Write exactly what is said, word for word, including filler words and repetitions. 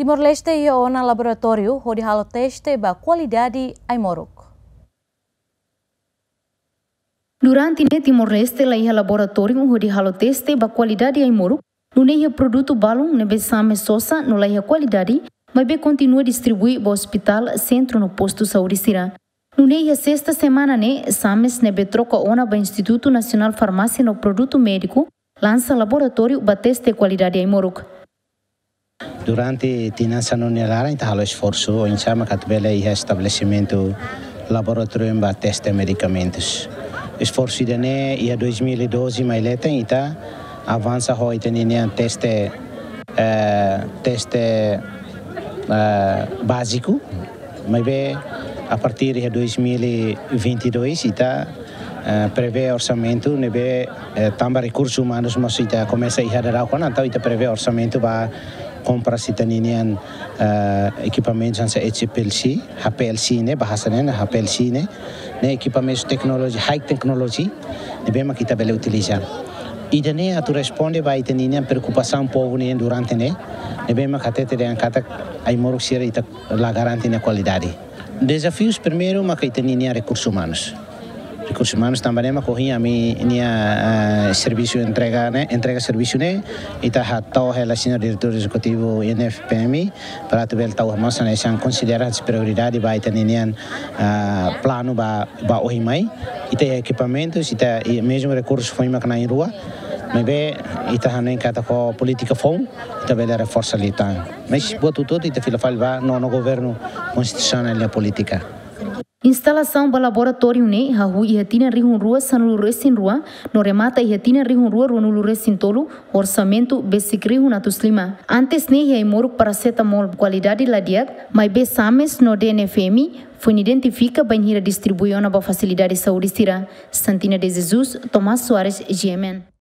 Timor-Leste iha ona laboratóriu hodi halo teste ba kualidade ai-moruk. Durante ne'e Timor-Leste la iha laboratóriu hodi halo teste ba kualidade ai-moruk, nune'e iha produtu balun ne'ebé SAMES sosa no la iha kualidade, maibé kontinua distribui ba ospitál, sentru no postu saúde sira. Nune'e iha sesta semana ne'e, SAMES ne'ebé troka ona ba Institutu Nasionál Farmásia no Produtu Médiku, lansa laboratóriu ba teste kualidade ai-moruk. Durante tinan sanulu nia laran, ita halo esforsu, oinsá mak atu bele iha estabelesimentu laboratóriu ba teste medikamentus. Esforsu ida-ne'e iha dois mil e doze mai leten, ita avansa ho ita-nia teste, eh, teste, eh, báziku, maibé a partir de dois mil e vinte e dois, ita, eh, prevee orsamentu ne'ebé, eh, tanba rekursus umanus mós ita komesa iha daudaun ona, entaun ita prevee orsamentu ba kompras ita-nia, eh, ekipamentus hanesan H P L C, H P L C ne'e, bahasa ne'e, H P L C ne'e, ne'e ekipamentus teknoloji, high technology, ne'ebé mak ita bele utiliza. Ida-ne'e atu responde ba ita-nia preokupasaun povu nian durante ne'e, ne'ebé mak hatete dehan katak ai-moruk sira ita la garante nia kualidade. Dezafius primeiru maka ita-nia rekursus umanus. Rekursus umanus tanba ne'e mak ohin ami-nia, ah, servisu entrega ne'e, entrega servisu ne'e, ita hatán ho señór diretór ezekutivu I N F P M I, para atu bele tau mós hanesan konsidera prioridade ba ita-nia, ah, planu ba, ba ohin mai. Ita iha ekipamentus, ita iha mezmu rekursu foin mak na'in-rua, maibé ita hanoin katak ho polítika foun, ita bele reforsa liután. Mas buat hotu-hotu ita fila fali ba nonu governu konstitusionál nia polítika. Instalasaun ba laboratóriu ne'e hahú iha tinan rihun rua sanulu-resin-rua, no remata iha tinan rihun rua ruanulu-resin-tolu, orsamentu besik rihun atus lima. Antes ne'e iha ai-moruk parasetamol kualidade la di'ak, maibé SAMES no D N F M I foin identifika bainhira distribui ona ba fasilidade saúde sira. Santina de Jesus, Tomás Soares, G M N.